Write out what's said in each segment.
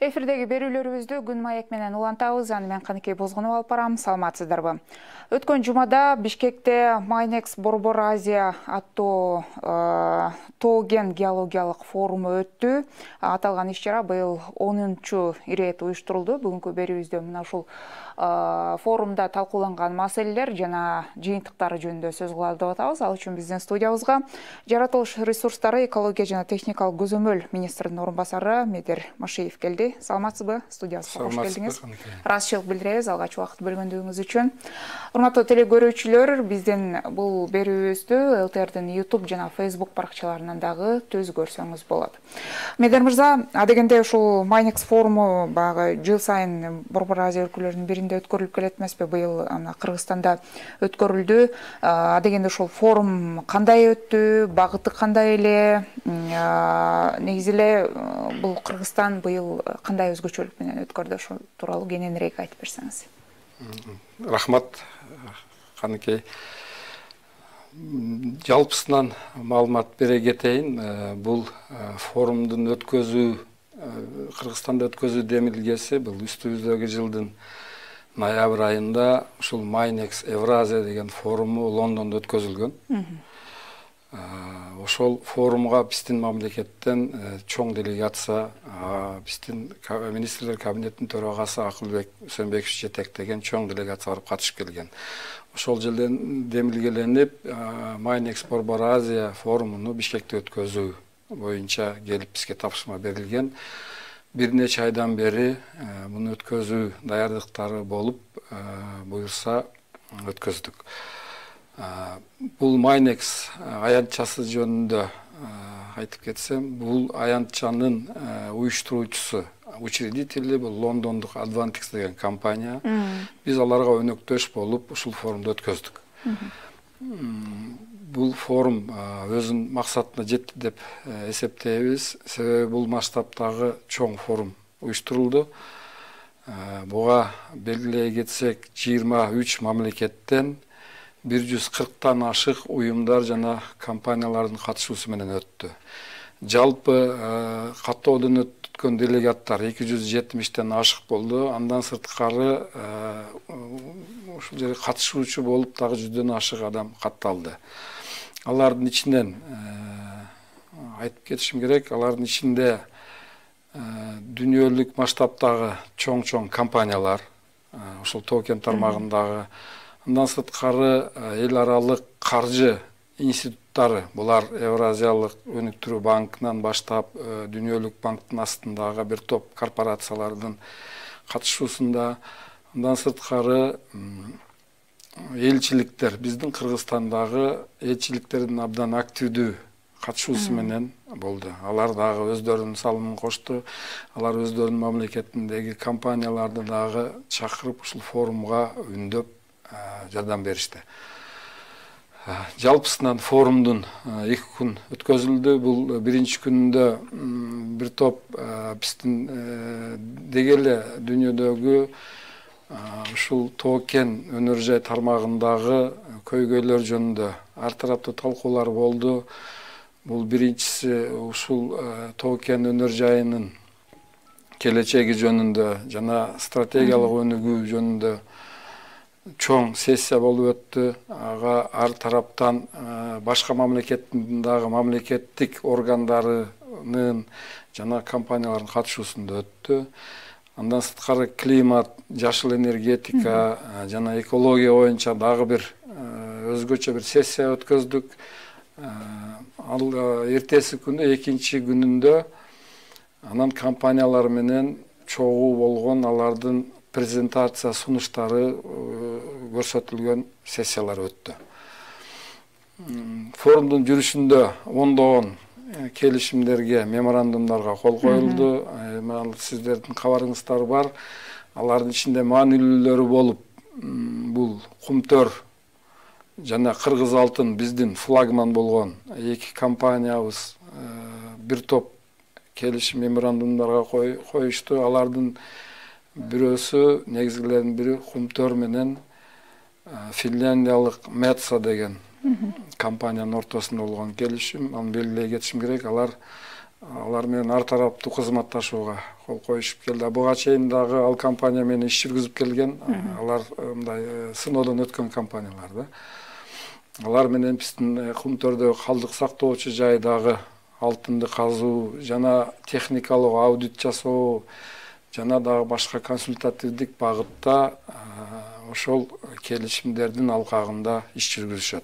Эфирдеги берүүлөрүбүздү күн маек менен улантабыз. Аны мен Каныкей Бозгунова алып барам. Саламатсыздарбы? Өткөн жумада Бишкекте Майнекс Борбор Азия аттуу тоо-кен геологиялык форуму өттү. Аталган иш-чара быйыл 10-чу ирет уюштурулду. Бүгүнкү берүүбүздө мына ушул форумда талкууланган маселелер жана жыйынтыктары жөнүндө сөз кылалы деп атабыз. Ал үчүн биздин студиябызга жаратылыш ресурстары, экология жана техникалык көзөмөл министринин орун басары Медер Машиев келди. Саламатсызбы? Студиябызга кош келдиңиз. Ыраазычылык билдиребиз алгач убакыт бөлгөндүгүңүз үчүн. Урматтуу теле көрүүчүлөр, биздин бул берүүбүздү ЛТРдин YouTube жана Facebook баракчаларынан дагы түз көрсөңүз болот. Медер мырза, адегенде ушул Майнекс форуму багы жыл сайын Борбор Азия өлкөлөрүнүн биринде өткөрүлүп келет эмеспи? Быйыл Кыргызстанда өткөрүлдү. Адегенде ушул форум кандай өттү? Багыты кандай эле? Негизи эле бул Кыргызстан быйыл кандай өзгөчөлүк менен өткөрдү? Ошол тууралуу кененирээк айтып берсеңиз. Рахмат, Каныкей. Жалпысынан маалымат бере кетейин. Бул форумдун Кыргызстанда өткөзүү демилгеси бул үстүбүздөгү жылдын ноябрь айында ушул Майнекс Евразия деген форуму Лондондо өткөзүлгөн. Ошол форумга биздин мамлекеттен чоң делегация, биздин министрлер кабинетинин төрагасы Акылбек Үсөнбеков жетектеген чоң делегация барып катышып келген. Ошол жылдан демилгеленип, Майнекс Борбор Азия форумуну Бишкекте өткөзүү боюнча келип бизге тапшырма берилген. Бир нече айдан бери муну өткөзүү даярдыктары болуп, буюрса өткөздүк. Бул Майнекс аянтчасы жөнүндө айтып кетсем, бул аянтчанын уюштуруучусу, учредители бул Лондондук Advantix деген компания. Биз аларга өнөктөш болуп ушул форумду өткөздүк. Бул форум өзүнүн максатына жетти деп эсептейбиз. Себеби бул масштабтагы чоң форум уюштурулду. Буга белгилей кетсек, 23 мамлекеттен 140тан ашык уюмдар жана компаниялардын катышуусу менен өттү. Жалпы каттоодон өткөн делегаттар 270тен ашык болду. Андан сырткары ушул жерге катышуучу болуп дагы 100дөн ашык адам катталды. Алардын ичинен айтып кетишим керек, алардын ичинде дүйнөлүк масштабтагы чоң компаниялар, ушул тоо-кен тармагындагы, андан сырткары эл аралык каржы институттары, булар Евразиялык өнүктүрүү банкынан баштап дүйнөлүк банктын астындагы бир топ корпорациялардын катышуусунда, андан сырткары элчиликтер, биздин Кыргызстандагы элчиликтердин абдан активдүү катышуусу менен болду. Алар дагы өздөрүнүн салымын кошту. Алар өздөрүнүн мамлекетиндеги компанияларды дагы чакырып ушул форумга үндөп жардам беришти. Жалпысынан форумдун 2 күн өткөзүлдү. Бул биринчи күнүндө бир топ биздин деги эле дүйнөдөгү ушул тоо-кен өнөр жай тармагындагы көйгөйлөр жөнүндө ар тараптуу талкуулар болду. Бул биринчиси ушул тоо-кен өнөр жайынын келечеги жөнүндө жана стратегиялык өнүгүү жөнүндө чоң сессия болуп өттү. Ага ар тараптан башка мамлекеттин дагы мамлекеттик органдарынын жана компаниялардын катышуусунда өттү. Андан сырткары климат, жашыл энергетика жана экология боюнча дагы бир өзгөчө бир сессия өткөздүк. Ал эртеси күнү, экинчи күнүндө анан компаниялар менен чогуу болгон алардын презентация сунуштары көрсөтүлгөн сессиялар өттү. Форумдун жүрүшүндө ондогон келишимдерге, меморандумдарга кол коюлду. Сиздердин кабарыңыздар бар. Алардын ичинде маанилүүлөрү болуп, бул Кумтөр жана Кыргыз Алтын биздин флагман болгон 2 компаниябыз бир топ келишим меморандумдарга коюшту. Алардын бирөөсү, негизгилердин бири Кумтөр менен финляндиялык Metso деген компаниянын ортосунда болгон келишим. Аны белгилей кетишим керек. Алар алар менен ар тараптуу кызматташууга кол коюшуп келди. Буга чейин дагы ал компания менен иш жүргүзүп келген. Алар мындай сыноодон өткөн компаниялар да. Алар менен биздин Кумтөрдөгү калдык сактоочу жайдагы алтынды казуу жана техникалык аудит жасоо жана дагы башка консультативдик багытта ошол келишимдердин алкагында иш жүргүзүшөт.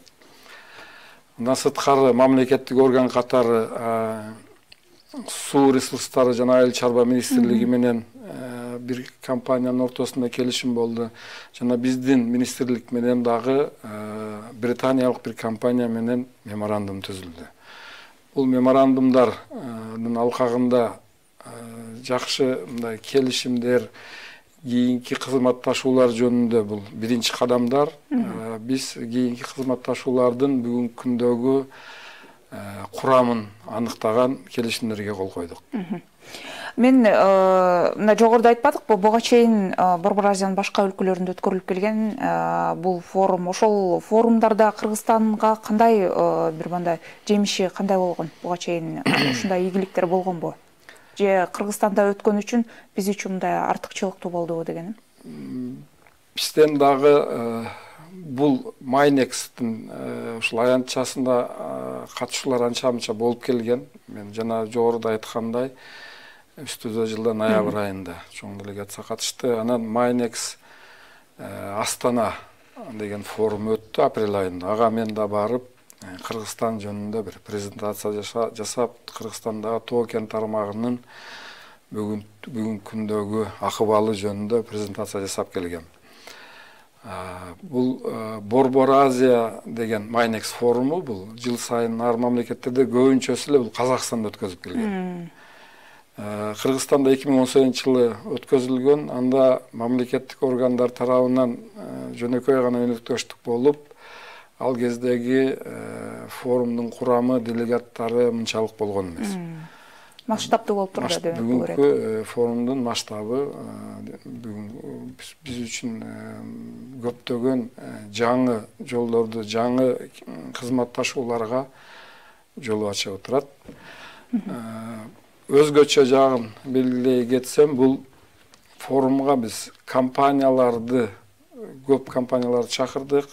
Мындан сырткары мамлекеттик орган катары суу ресурстары жана айыл чарба министрлиги менен бир компаниянын ортосунда келишим болду. Жана биздин министрлик менен дагы британиялык бир компания менен меморандум түзүлдү. Бул меморандумдардын алкагында жакшы мындай келишимдер, кийинки кызматташуулар жөнүндө бул биринчи кадамдар. Биз кийинки кызматташуулардын бүгүнкү күндөгү курамын аныктаган келишимдерге кол койдук. Мен мына жогоруда айтпадыкпы, буга чейин Борбор Азиянын башка өлкөлөрүндө өткөрүлүп келген бул форум. Ошол форумдарда Кыргызстанга кандай бир мындай жемиши кандай болгон? Буга чейин ушундай ийгиликтер болгонбу? Же Кыргызстанда өткөн үчүн биз үчүн мындай артыкчылыктуу болдубу дегеним? Бизден дагы бул Майнекстин ушул аянтчасында катышуулар анча-мынча болуп келген. Мен жана жогоруда айткандай, үстүдө жылдын ноябрь айында чоң делегация катышты. Анан Майнекс Астана деген форум өттү апрель айында. Ага мен да барып, Кыргызстан жөнүндө бир презентация жасап, Кыргызстандагы тоо кен тармагынын бүгүнкү күндөгү акыбалы жөнүндө презентация жасап келгем. Бул Борбор Азия деген Майнекс форуму бул жыл сайын ар мамлекеттерде көбүнчөсү эле бул Казакстанда өткөзүп келген. Кыргызстанда 2018 жылы өткөзүлгөн. Анда мамлекеттик органдар тарабынан жөнөкөй гана өнөктөштүк болуп, ал кездеги форумдун курамы, делегаттары мынчалык болгон эмес. Масштабдуу болуп турду деп көрөт. Бүгүнкү форумдун масштабы биз үчүн көптөгөн жаңы жолдорду, жаңы кызматташууларга жол ачып отурат. Өзгөчө жагын белгилей кетсем, бул форумга биз компанияларды, көп компанияларды чакырдык.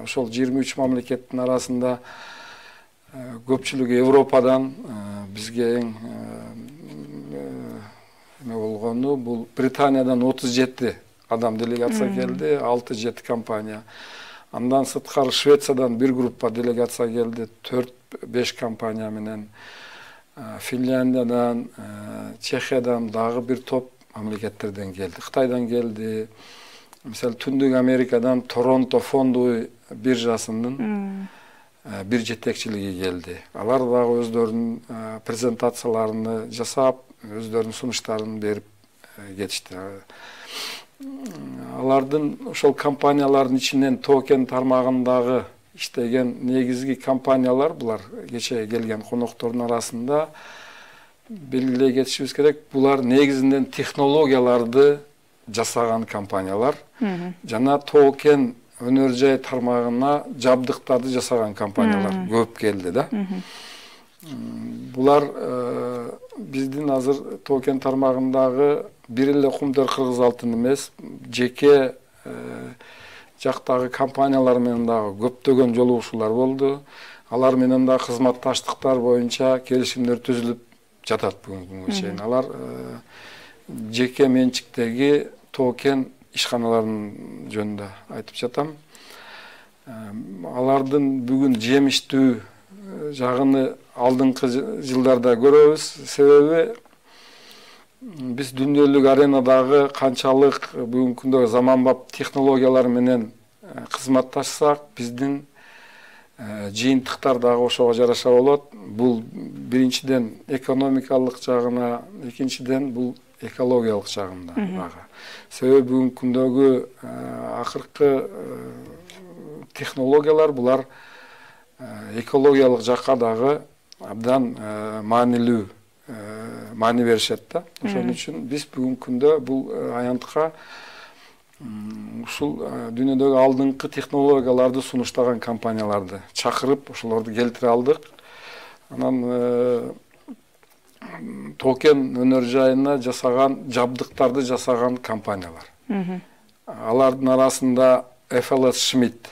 Ошол 23 мамлекеттин арасында көпчүлүгү Европадан, бизге эң болгону бул Британиядан 37 адам делегация келди, 6-7 компания. Андан сырткары Швециядан бир группа делегация келди, 4-5 компания менен. Финляндиядан, Чехиядан дагы бир топ мамлекеттерден келди. Кытайдан келди. Мисалы Түндүк Америкадан Торонто фондовый биржасынын бир жетекчилиги келди. Алар дагы өздөрүнүн презентацияларын жасап, өздөрүнүн сунуштарын берип кетишти. Алардын ошол компаниялардын ичинен тоо кен тармагындагы иштеген негизги компаниялар, булар кече келген коноктордун арасында белгилей кетишибиз керек. Булар негизинен технологияларды жасаган компаниялар жана тоо кен өнөр жай тармагына жабдыктарды жасаган компаниялар көп келди да. Булар биздин азыр тоо кен тармагындагы бир эле Кумтөр Кыргыз алтын эмес, жеке жактагы компаниялар менен дагы көптөгөн жолугушуулар болду. Алар менен да кызматташтыктар боюнча келишимдер түзүлүп жатат бүгүнкү күнгө чейин. Алар жеке менчиктеги тоо кен ишканаларынын жөнүндө айтып жатам. Алардын бүгүн жемиштүү жагыны алдыңкы жылдарда көрөбүз. Себеби биз дүйнөлүк аренадагы канчалык бүгүнкү күндө заманбап технологиялар менен кызматташсак, биздин жыйынтыктар дагы ошого жараша болот. Бул биринчиден экономикалык жагына, экинчиден бул экологиялык жагында дагы. Себеби бүгүнкү күндөгү акыркы технологиялар булар экологиялык жакка дагы абдан маанилүү маани беришет да. Ошон үчүн биз бүгүнкү күндө бул аянтка ушул дүйнөдөгү алдыңкы технологияларды сунуштаган компанияларды чакырып, ошолорду келтире алдык. Анан Тоо-Кен өнөр жайына жасаган жабдыктарды жасаган компаниялар. Алардын арасында FLS Schmidt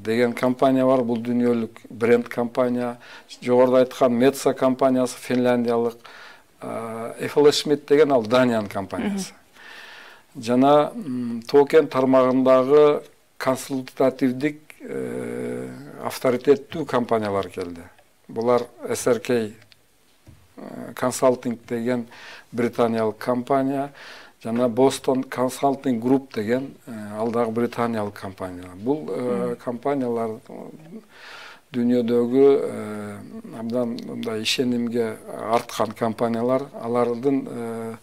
деген компания бар. Бул дүйнөлүк бренд компания. Жогоруда айткан Metsa компаниясы финляндиялык. FLS Schmidt деген ал Даниянын компаниясы. Жана Тоо-Кен тармагындагы консультативдик авторитеттүү компаниялар келди. Булар SRK Consulting деген британиялык компания, жана Boston Consulting Group деген ал дагы британиялык компания. Бул компаниялар дүйнөдөгү абдан мындай ишенимге арткан компаниялар. Алардын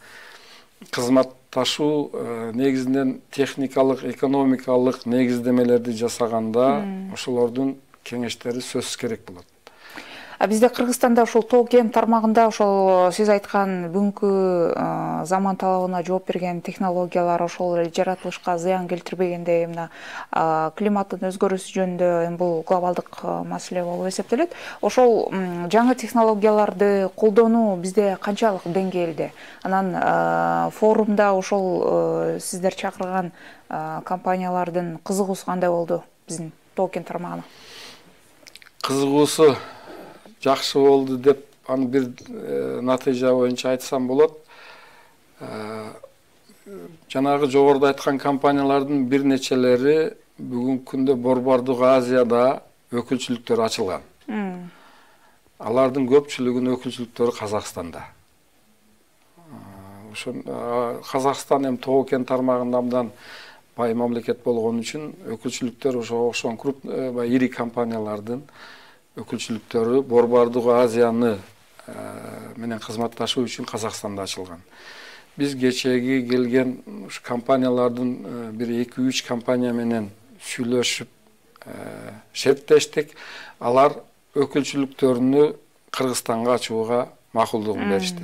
кызматташуу негизинен техникалык, экономикалык негиздемелерди жасаганда ошолордун кеңештери сөзсүз керек болот. Бизде Кыргызстанда ошол Тоо-Кен тармагында ошол сиз айткан бүгүнкү заман талабына жооп берген технологиялар ошол жаратылышка зыян келтирбегендей, мына климаттын өзгөрүүсү жөнүндө бул глобалдык маселе болуп эсептелет. Ошол жаңы технологияларды колдонуу бизде канчалык деңгээлде? Анан форумда ошол сиздер чакырган компаниялардын кызыгуусу кандай болду биздин Тоо-Кен тармагына? Кызыгуусу жакшы болду деп аны бир натыйжа боюнча айтсам болот. Жанагы жогоруда айткан компаниялардын бир нечелери бүгүнкү күндө Борбордук Азияда өкүлчүлүктөр ачылган. Алардын көпчүлүгүнүн өкүлчүлүктөрү Казакстанда. Ошон Казакстан эми Тоо-Кен тармагында абдан бай мамлекет болгон үчүн өкүлчүлүктөр ошого окшогон крупный ири компаниялардын өкүлчүлүктөрү Борбордук Азияны менен кызматташуу үчүн Казакстанда ачылган. Биз кечеги келген компаниялардын бир 2-3 компания менен сүйлөшүп шерттештик. Алар өкүлчүлүктөрүнү Кыргызстанга ачууга макулдугун беришти.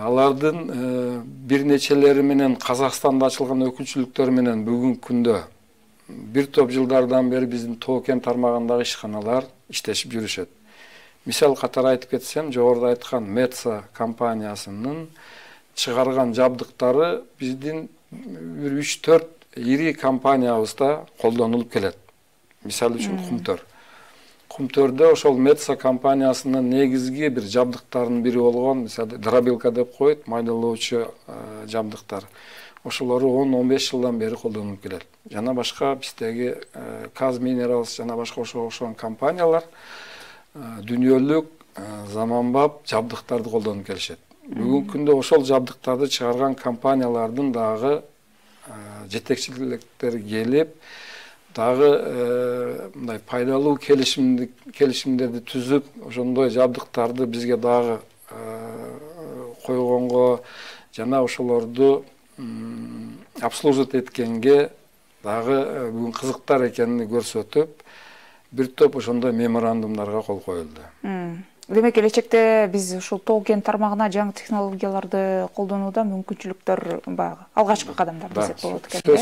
Алардын бир нечелери менен Казакстанда ачылган өкүлчүлүктөр менен бүгүнкү күндө бир топ жылдардан бери биздин Тоо-Кен тармагындагы ишканалар иштешип жүрүшөт. Мисал катары айтып кетсем, жогоруда айткан Metsa компаниясынын чыгарган жабдыктары биздин бир 3-4 ири компаниябызда колдонулуп келет. Мисал үчүн кумтөр. Кумтөрдө ошол Metsa компаниясынын негизги бир жабдыктарынын бири болгон, мисалы дробилка деп коет, майдалоочу жабдыктар. Ошолору 10-15 жылдан бери колдонулуп келет. Жана башка биздеги Kaz Minerals жана башка окшогон компаниялар дүйнөлүк заманбап жабдыктарды колдонуп келишет. Бүгүнкү күндө ошол жабдыктарды чыгарган компаниялардын дагы жетекчиликтери келип, дагы мындай пайдалуу келишимдерди түзүп, ошондой жабдыктарды бизге дагы койгонго жана ошолорду обслуживать эткенге дагы бүгүн кызыктар экенин көрсөтүп, бир топ ошондой меморандумдарга кол коюлду. Демек, келечекте биз ушул Тоо-Кен тармагына жаңы технологияларды колдонууда мүмкүнчүлүктөр баягы алгачкы кадамдар десек болот экен.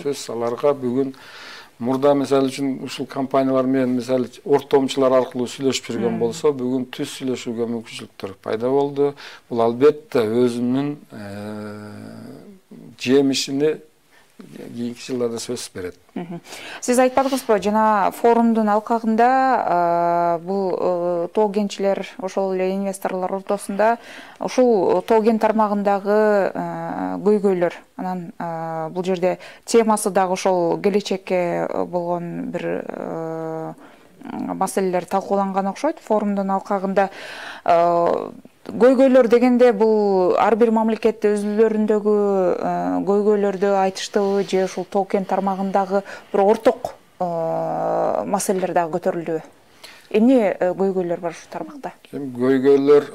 Сөз аларга бүгүн мурда мисалы үчүн ушул компаниялар менен мисалы ортомчулар аркылуу сүйлөшүп жүргөн болсо, бүгүн түз сүйлөшүүгө мүмкүнчүлүктөр пайда болду. Бул албетте өзүнүн жемишини кийинки жылдарда сөзсүз берет. Сиз айтпадыңызбы, жана форумдун алкагында бул Тоо-Кенчилер, ошол эле инвесторлор ортосунда ушул Тоо-Кен тармагындагы көйгөйлөр, анан бул жерде темасы дагы ошол келечекке болгон бир маселелер талкууланган окшойт. Форумдун алкагында көйгөйлөр дегенде бул ар бир мамлекет өзүлөрүндөгү көйгөйлөрдү айтыштыбы, же ушул Тоо-Кен тармагындагы бир орток маселелер дагы көтөрүлдүбү? Эмне көйгөйлөр бар ушул тармакта? Көйгөйлөр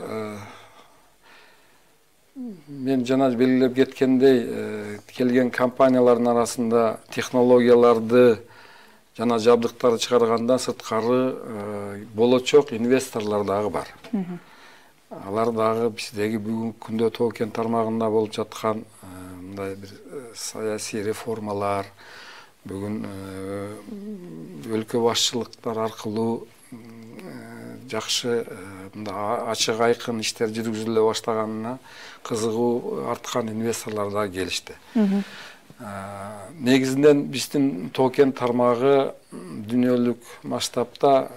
мен жана белгилеп кеткендей, келген компаниялардын арасында технологияларды жана жабдыктарды чыгаргандан сырткары болочок инвесторлор дагы бар. Алар дагы биздеги бүгүнкү күндө Тоо-Кен тармагында болуп жаткан мындай бир саясий реформалар, бүгүн өлкө башчылыктар аркылуу жакшы мындай ачык айкын иштер жүргүзүлө баштаганына кызыгуу арткан инвесторлор да келишти. Негизинен биздин токен тармагы дүйнөлүк масштабта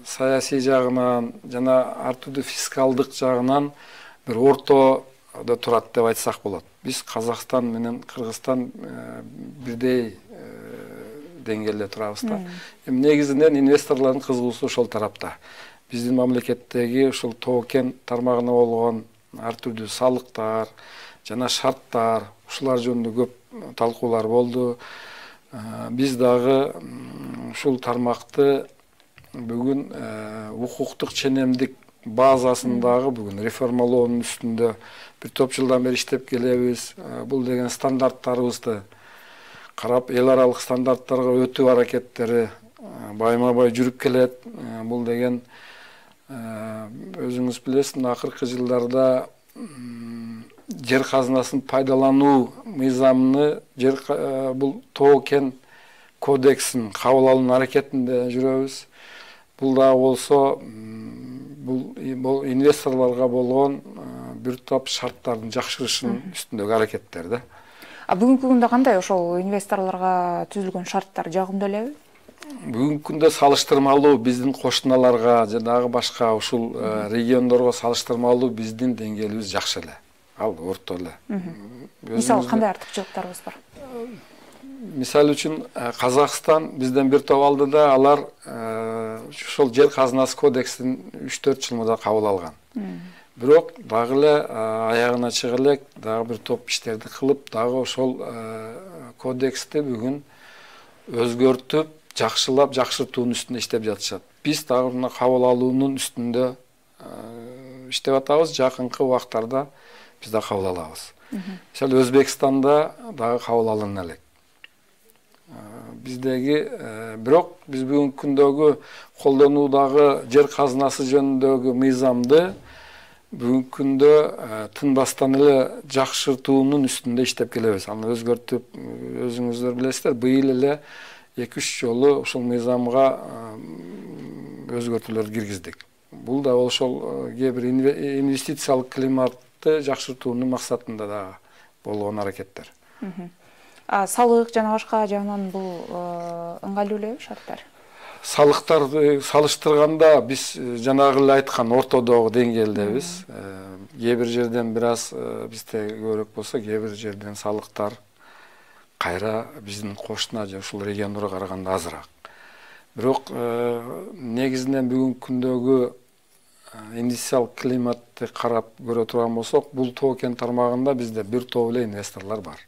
саясий жагынан жана ар түрдүү фискалдык жагынан бир ортодо турат деп айтсак болот. Биз Казакстан менен Кыргызстан бирдей деңгээлде турабыз да. Негизинен инвесторлордун кызыгуусу ошол тарапта. Биздин мамлекеттеги ушул токен тармагына болгон ар түрдүү салыктар жана шарттар ушулар жөнүндө көп талкуулар болду. Биз дагы ушул тармакты бүгүн укуктук ченемдик базасындагы бүгүн реформалоонун үстүндө бир топ жылдан бери иштеп келебиз. Бул деген стандарттарыбызды карап эл аралык стандарттарга өтүү аракеттери байма бай жүрүп келет. Бул деген өзүңүз билесиз, акыркы жылдарда жер казынасын пайдалануу мыйзамыны бул токен кодексин кабыл алуу аракетинде жүрөбүз. Бул да болсо бул инвесторлорго болгон бир топ шарттардын жакшырышынын үстүндөгү аракеттер да. Бүгүнкү күндө кандай ошол инвесторлорго түзүлгөн шарттар жагымдуу элеби? Бүгүнкү күндө салыштырмалуу биздин кошуналарга жана башка ушул региондорго салыштырмалуу биздин деңгээлибиз жакшы эле. Ал орто эле. Мисалы кандай артыкчылыктарыбыз бар? Мисалы үчүн Казакстан бизден бир топ алдыда, алар ошол жер казынасы кодексин 3-4 жыл мурда кабыл алган. Бирок дагы эле аягына чыга элек дагы бир топ иштерди кылып, дагы ошол кодексти бүгүн өзгөртүп, жакшылап, жакшыртуунун үстүндө иштеп жатышат. Биз дагы мына кабыл алуунун үстүндө иштеп атабыз. Жакынкы убактарда биз да кабыл алабыз. Мисалы Өзбекстанда дагы кабыл алына элек. Биздеги бирок биз бүгүнкү күндөгү колдонуудагы жер казынасы жөнүндөгү мыйзамды бүгүнкү күндө тынбастан эле жакшыртуунун үстүндө иштеп келебиз. Аны өзгөртүп, өзүңүздөр билесиздер, быйыл эле 2-3 жолу ушул мыйзамга өзгөртүүлөр киргиздик. Бул да ошол кээ бир инвестициялык климатты жакшыртуунун максатында да болгон аракеттер. Салык жана башка жагынан бул ыңгайлуу элеби шарттар? Салыктарды салыштырганда биз жанагы эле айткан ортодогу деңгээлдебиз. Кээ бир жерден бир аз бизде көбүрөөк болсо, кээ бир жерден салыктар кайра биздин кошуна же ушул региондорго караганда азыраак. Бирок негизинен бүгүнкү күндөгү инвестициялык климатты карап көрө турган болсок, бул токен тармагында бизде бир топ эле инвесторлор бар.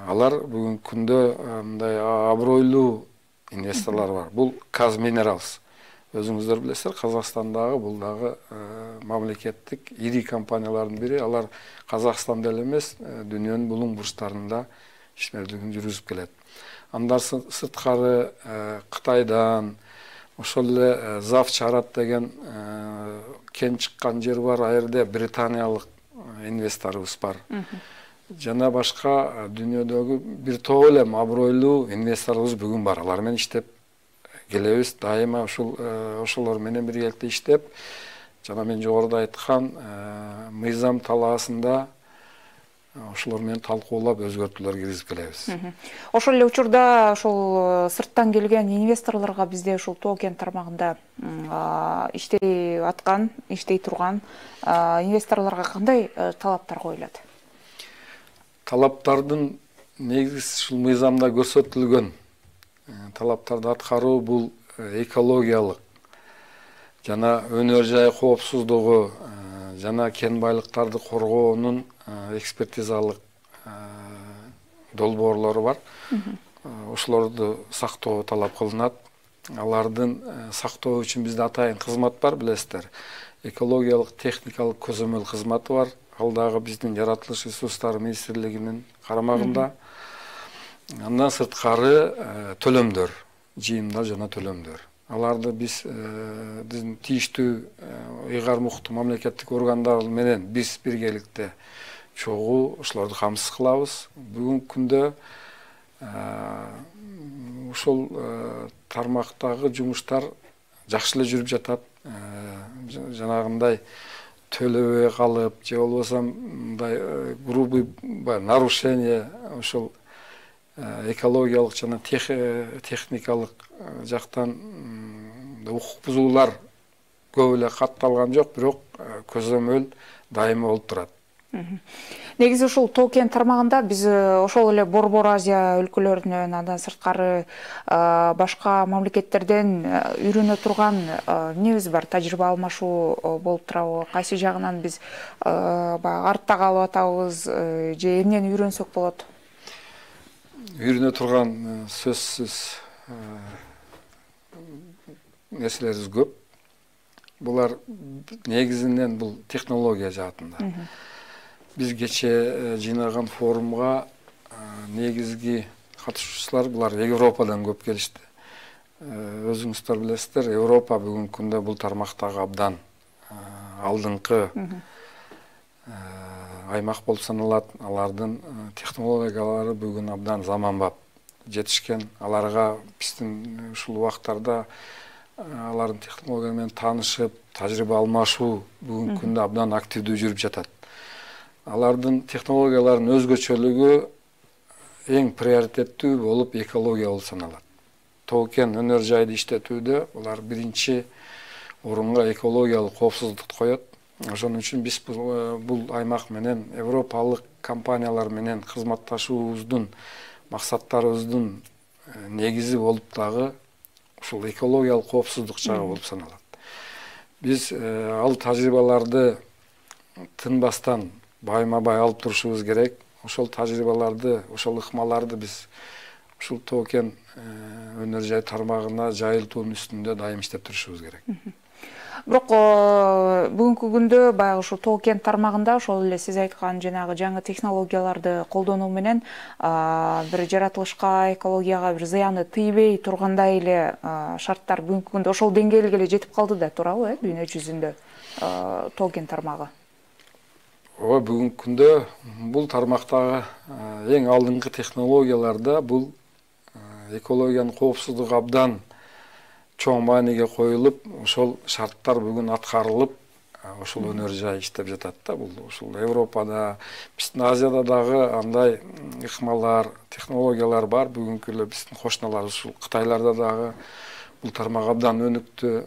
Алар бүгүнкү күндө мындай абройлуу инвесторлор бар. Бул Казминералс. Өзүңүздөр билесиздер, Казакстандагы бул дагы мамлекеттик ири компаниялардын бири. Алар Казакстанда эле эмес, дүйнөнүн булуң бурчтарында ишмердигин жүргүзүп келет. Андан сырткары Кытайдан ошол эле Завчарат деген кен чыккан жер бар. А жерде британиялык инвесторубуз бар. Жана башка дүйнөдөгү бир топ эле абройлуу инвесторлорубуз бүгүн бар. Алар менен иштеп келебиз. Дайыма ошолор менен биргеликте иштеп, жана мен жогоруда айткан мыйзам талаасында ошолор менен талкуулап өзгөртүүлөр киргизип келебиз. Ошол эле учурда ошол сырттан келген инвесторлорго бизде ушул токен тармагында иштей аткан, иштей турган инвесторлорго кандай талаптар коюлат? Талаптардын негизи ушул мыйзамда көрсөтүлгөн талаптарды аткаруу бул экологиялык жана өнөр жай коопсуздугу жана кен байлыктарды коргоонун экспертизалык долбоорлору бар. Ошолорду сактоо талап кылынат. Алардын сактоо үчүн бизде атайын кызмат бар, билесиздер. Экологиялык техникалык көзөмөл кызматы бар. Ал дагы биздин жаратылыш ресурстары министрлигинин карамагында. Андан сырткары төлөмдөр, жыйымдар жана төлөмдөр. Аларды биз тийиштүү ыйгар муктуу мамлекеттик органдар менен биз биргеликте чогуу ошолорду камсыз кылабыз. Бүгүнкү күндө ушул тармактагы жумуштар жакшы эле жүрүп жатат. жанагындай төлөбөй калып же болбосо мындай грубый нарушение ошол экологиялык жана техникалык жактан укук бузуулар көп эле катталган жок, бирок көзөмөл дайыма болуп турат. Негизи ушул Тоо-Кен тармагында биз ошол эле Борбор Азия өлкөлөрүнөн, андан сырткары башка мамлекеттерден үйрөнө турган эмнебиз бар? Тажрыйба алмашуу болуп турабы? Кайсы жагынан биз баягы артта калып атабыз же эмнени үйрөнсөк болот? Үйрөнө турган сөзсүз нерселерибиз көп. Булар негизинен бул технология жаатында. Биз кече жыйнаган форумга негизги катышуучулар булар Европадан көп келишти. Өзүңүздөр билесиздер, Европа бүгүнкү күндө бул тармактагы абдан алдыңкы аймак болуп саналат. Алардын технологиялары бүгүн абдан заманбап жетишкен. Аларга биздин ушул убактарда алардын технология менен таанышып, тажрыйба алмашуу бүгүнкү күндө абдан активдүү жүрүп жатат. Алардын технологияларынын өзгөчөлүгү эң приоритеттүү болуп экология болуп саналат. Тоо-Кен өнөр жайды иштетүүдө булар биринчи орунга экологиялык коопсуздукту коет. Ошон үчүн биз бул аймак менен европалык компаниялар менен кызматташуубуздун максаттарыбыздын негизи болуп дагы ушул экологиялык коопсуздук жагы болуп саналат. Биз ал тажрыйбаларды тынбастан байма-бай алып турушубуз керек. Ошол тажрыйбаларды, ошол ыкмаларды биз ушул Тоо-Кен өнөр жай тармагына жайылтуунун үстүндө дайым иштеп турушубуз керек. Бирок бүгүнкү күндө баягы ушул Тоо-Кен тармагында ошол эле сиз айткан жанагы жаңы технологияларды колдонуу менен бир жаратылышка, экологияга бир зыяны тийбей тургандай эле шарттар бүгүнкү күндө ошол деңгээлге эле жетип калды да туурабы, дүйнө жүзүндө Тоо-Кен тармагы? Ооба, бүгүнкү күндө бул тармактагы эң алдыңкы технологияларда бул экологиянын коопсуздугу абдан чоң мааниге коюлуп, ошол шарттар бүгүн аткарылып, ошол өнөр жай иштеп жатат да. Бул ушул Европада, биздин Азияда дагы андай ыкмалар, технологиялар бар. Бүгүнкү эле биздин кошуналар ушул Кытайларда дагы бул тармак абдан өнүктү.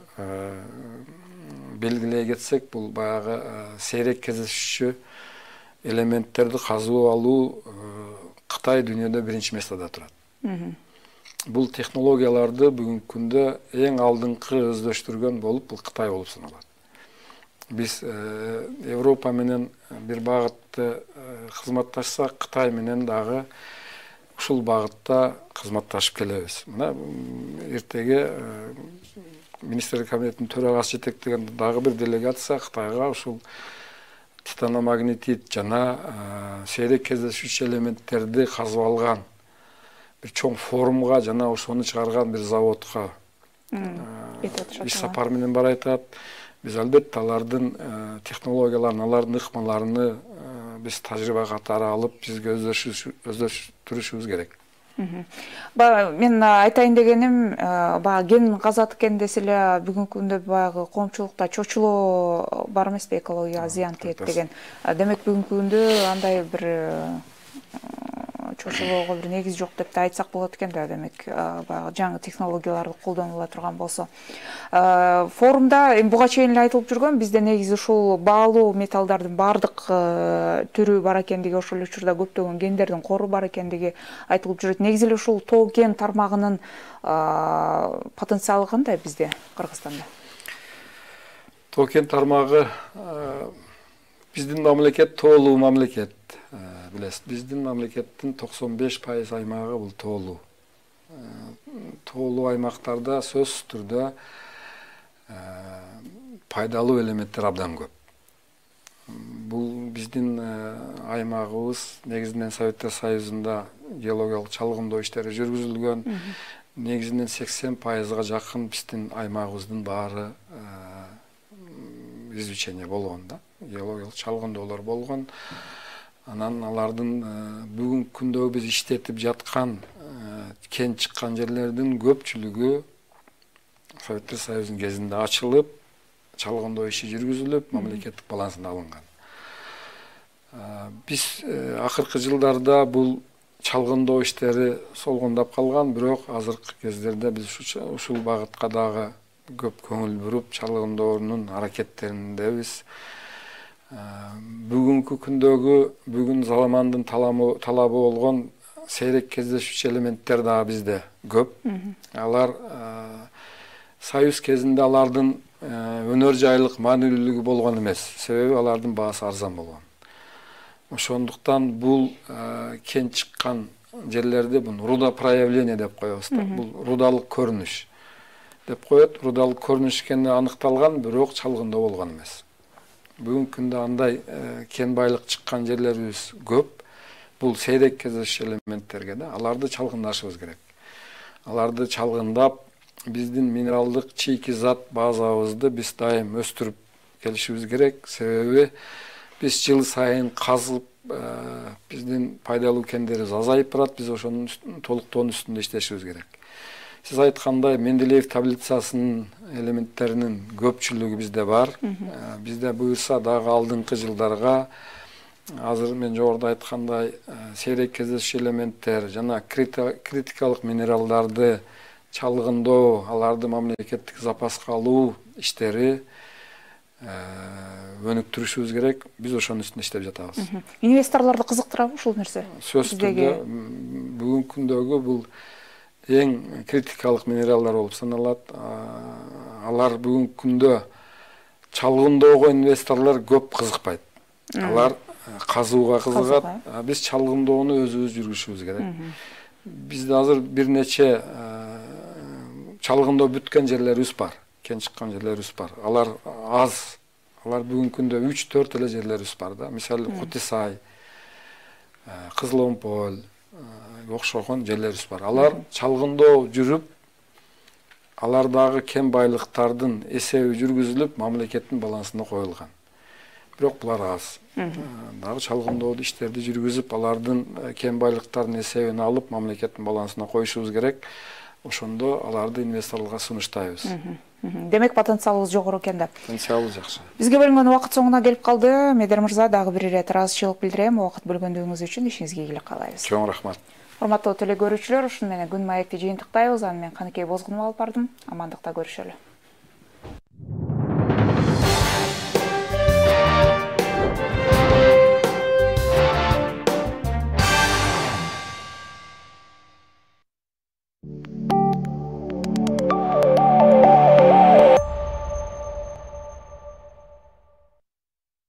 Белгилей кетсек, бул баягы сейрек кездешүүчү элементтерди казып алуу Кытай дүйнөдө биринчи местада турат. Бул технологияларды бүгүнкү күндө эң алдыңкы өздөштүргөн болуп бул Кытай болуп саналат. Биз Европа менен бир багытты кызматташсак, Кытай менен дагы ушул багытта кызматташып келебиз. Мына эртеге министрлер кабинетинин төрагасы жетектеген дагы бир делегация Кытайга ушул титаномагнетит жана сейрек кездешүүчү элементтерди казып алган бир чоң форумга жана ошону чыгарган бир заводко иш сапар менен баратат. Биз албетте алардын технологияларын, алардын ыкмаларыны биз тажрыйба катары алып, бизге өздөштүрүшүбүз керек. Мен айтайын дегеним, ген казат экен десе эле бүгүнкү күндө баягы коомчулукта чочулоо бар эмеспи, экологияга зыян тиет деген. Демек бүгүнкү күндө андай бир чочулоого бир негиз жок деп да айтсак болот экен да. Демек баягы жаңы технологияларды колдонула турган болсо. Форумда буга чейин эле айтылып жүргөн, бизде негизи ушул баалуу металлдардын баардык түрү бар экендиги, ошол эле учурда көптөгөн гендердин кору бар экендиги айтылып жүрөт. Негизи эле ушул Тоо-Кен тармагынын потенциалы кандай бизде, Кыргызстанда? Тоо-Кен тармагы биздин мамлекет тоолуу мамлекет. Билесиз, биздин мамлекеттин 95% аймагы бул тоолуу. Тоолуу аймактарда сөзсүз түрдө пайдалуу элементтер абдан көп. Бул биздин аймагыбыз негизинен Советтер Союзунда геологиялык чалгындоо иштери жүргүзүлгөн. Негизинен 80%га жакын биздин аймагыбыздын баары изучение болгон да. Геологиялык чалгындоолор болгон. Анан алардын бүгүнкү күндө биз иштетип жаткан кен чыккан жерлердин көпчүлүгү Советтер Союзунун кезинде ачылып, чалгындоо иши жүргүзүлүп, мамлекеттик балансына алынган. Биз акыркы жылдарда бул чалгындоо иштери солгундап калган, бирок азыркы кездерде биз ушул багытка дагы көп көңүл буруп, чалгынdoonун аракеттериндебиз. Бүгүнкү күндөгү, бүгүн замандын талабы болгон сейрек кездешүүчү элементтер дагы бизде көп. Алар союз кезинде алардын өнөр жайлык маанилүүлүгү болгон эмес, себеби алардын баасы арзан болгон. Ошондуктан бул кен чыккан жерлерде бул руда проявление деп коебуз да. Бул рудалык көрүнүш деп коет. Рудалык көрүнүш экени аныкталган, бирок чалгындоо болгон эмес. Бүгүнкү күндө андай кен байлык чыккан жерлерибиз көп. Бул сейрек кездешүүчү элементтерге да аларды чалгындашыбыз керек. Аларды чалгындап, биздин минералдык чийки зат базабызды биз дайым өстүрүп келишибиз керек. Себеби биз жыл сайын казып, биздин пайдалуу кендерибиз азайып барат. Биз ошонун толуктоонун үстүндө иштешибиз керек. Сиз айткандай, Менделеев таблицасынын элементтеринин көпчүлүгү бизде бар. Бизде буюрса дагы алдыңкы жылдарга азыр мен жогоруда айткандай сейрек кездешүүчү элементтер жана критикалык минералдарды чалгындоо, аларды мамлекеттик запаска алуу иштери өнүктүрүшүбүз керек. Биз ошонун үстүндө иштеп жатабыз. Инвесторлорду кызыктырабы ушул нерсе? Сөзсүз түрдө бүгүнкү күндөгү бул эң критикалык минералдар болуп саналат. Алар бүгүнкү күндө чалгындоого инвесторлор көп кызыкпайт. Алар казууга кызыгат. Биз чалгындоону өзүбүз жүргүзүшүбүз керек. Бизде азыр бир нече чалгындоо бүткөн жерлерибиз бар, кен чыккан жерлерибиз бар. Алар аз. Алар бүгүнкү күндө 3-4 эле жерлерибиз бар да. Мисалы Кутисай, Кызыломполь окшогон жерлерибиз бар. Алар чалгындоо жүрүп, алардагы кен байлыктардын эсеби жүргүзүлүп, мамлекеттин балансына коюлган. Бирок булар аз. Дагы чалгындоодо иштерди жүргүзүп, алардын кен байлыктарынын эсебин алып, мамлекеттин балансына коюшубуз керек. Ошондо аларды инвесторлорго сунуштайбыз. Демек потенциалыбыз жогору экен да. Потенциалыбыз жакшы. Бизге бөлүнгөн убакыт соңуна келип калды. Медер мырза, дагы бир ирет ыраазычылык билдирем. Убакыт бөлгөндүгүңүз үчүн ишиңизге ийгилик каалайбыз. Чоң рахмат. Урматтуу теле көрүүчүлөр, ушуну менен күн маекти жыйынтыктайбыз. Аны мен Каныкей Бозгунова алып бардым. Амандыкта көрүшөлү.